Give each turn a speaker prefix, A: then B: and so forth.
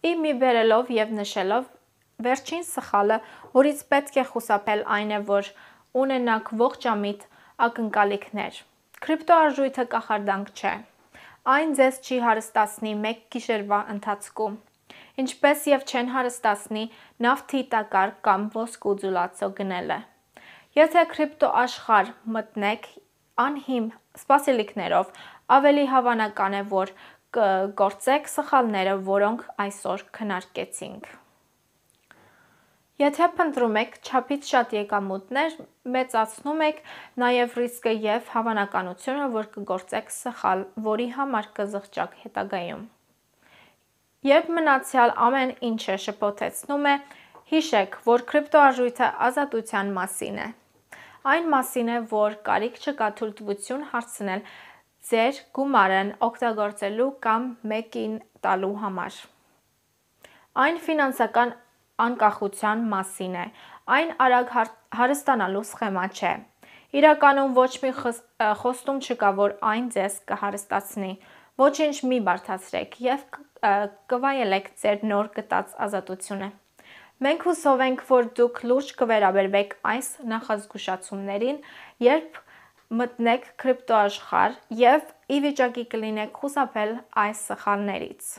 A: Ի մի բերելով և նշելով վերջին սխալը, որից պետք է խուսափել, այն է, որ ունենաք ողջամիտ ակնկալիքներ։ Կրիպտոարժույթը կախարդանք չէ։ Այն ձեզ չի հարստացնի մեկ գիշերվա ընթացքում, ինչպես և չեն հարստացնի նավթի տակառ կամ ոսկու ձուլածո գնելը։ Եթե կրիպտոաշխարհ մտնեք անհիմն սպասելիքներով, ավելի հավանական է, որ կգործեք սխալները, որոնք այսօր քննարկեցինք։ Եթե փնտրում եք չափից շատ եկամուտներ, մեծացնում եք նաև ռիսկը և հավանականությունը, որ կգործեք սխալ, որի համար կզղջաք հետագայում։ Երբ մնացյալ ամեն ինչը շփոթեցնում է, հիշեք, որ կրիպտոարժույթը ազատության մասին է։ Այն մասին է, որ կարիք չկա թույլտվություն հարցնել ձեր գումարն օգտագործելու կամ մեկին տալու համար։ Այն ֆինանսական անկախության մասին է։ Այն արագ հարստանալու սխեմա չէ։ Իրականում ոչ մի խոստում չկա, որ այն ձեզ կհարստացնի։ Ոչինչ մի բարդացրեք և կվայելեք ձեր նոր գտած ազատությունը։ Մենք հուսով ենք, որ դուք լուրջ կվերաբերվեք այս նախազգուշացումներին, երբ մտնեք կրիպտոաշխարհ և ի վիճակի կլինեք խուսափել այս սխալներից։